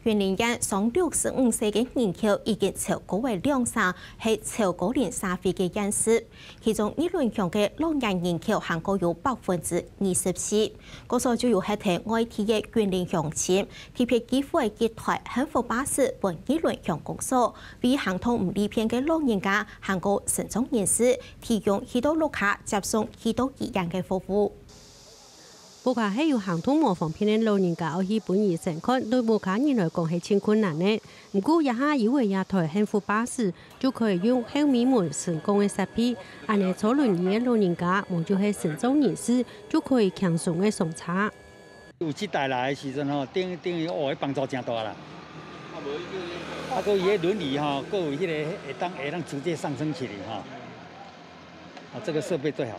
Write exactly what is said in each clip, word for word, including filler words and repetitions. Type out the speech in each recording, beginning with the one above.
雲林縣上六十五歲个人口已經超過了兩成，係超高齡社會个縣市。其中，二崙鄉个老年人口還過有百分之二十四。故所就有歇在外地个雲林鄉親，特別寄附一台幸福巴士分二崙鄉公所，為行動毋利便个老人家還過身障人士提供去到屋下接送去到醫院个服務。 屋下係有行動無方便个老人家愛去分醫生看，對屋下人來講係盡困難个。毋過，這下有了這台幸福巴士，就可以用後尾門升降个設備，恁呢坐輪椅个老人家，無就係身障人士，就可以輕鬆个上車。有這台來个時陣吼，等，等於，哦，幫助真大啦。啊，閣伊个輪椅吼，閣有彼个會當，會當直接上升起來吼。 啊，這個設備最好。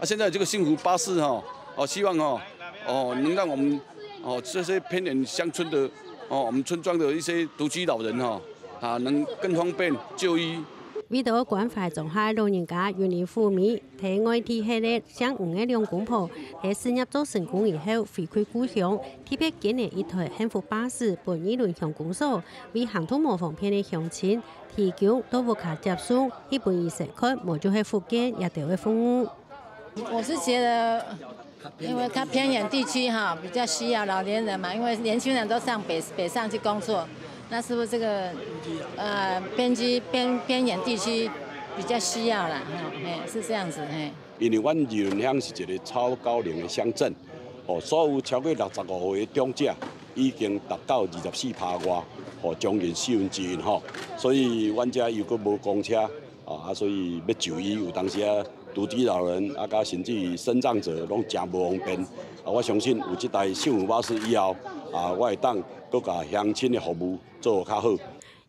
啊，現在這個幸福巴士哈，哦，希望哦，哦，能讓我們哦這些偏遠鄉村的哦，我們村莊的一些獨居老人哈，啊，能更方便就醫。為著關懷中下个老人家，雲林虎尾在外地歇个姓吳个兩公婆，在事業做成功以後，回歸故鄉，特別捐了一台幸福巴士分二崙鄉公所，為行動無方便个鄉親 提供到屋下接送，去分醫生看，無就係復健這兜个服務。我是覺得，因為他偏遠地區哈，比較需要老年人嘛，因為年輕人都上北，北上去工作，那是不是這個，呃，偏居，偏，偏遠地區比較需要啦？哈，嘿，是這樣子，嘿。因為阮二崙鄉是一個超高齡的鄉鎮，哦，所有超過六十五歲的長者已經達到二十四趴外，哦，將近四分之一吼。所以阮遮又閣無公車，啊，啊，所以欲就醫，有當時啊，獨居老人啊，佮甚至於身障者攏誠無方便。啊，我相信有這台幸福巴士以後，啊，我會當閣佮鄉親的服務做較好。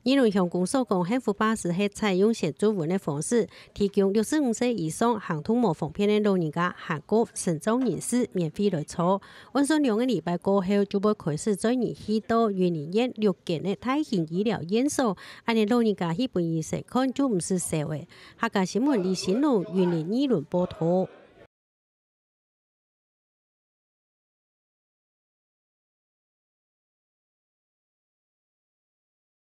二崙鄉公所講，幸福巴士係採用先注文个方式，提供六十五歲以上行動無方便个老人家，還過身障人士免費來坐。按算兩個禮拜過後，就會開始載人去到雲林縣六間个大型醫療院所，恁呢老人家去分醫生看就毋使愁了。客家新聞李新龍，雲林二崙報導。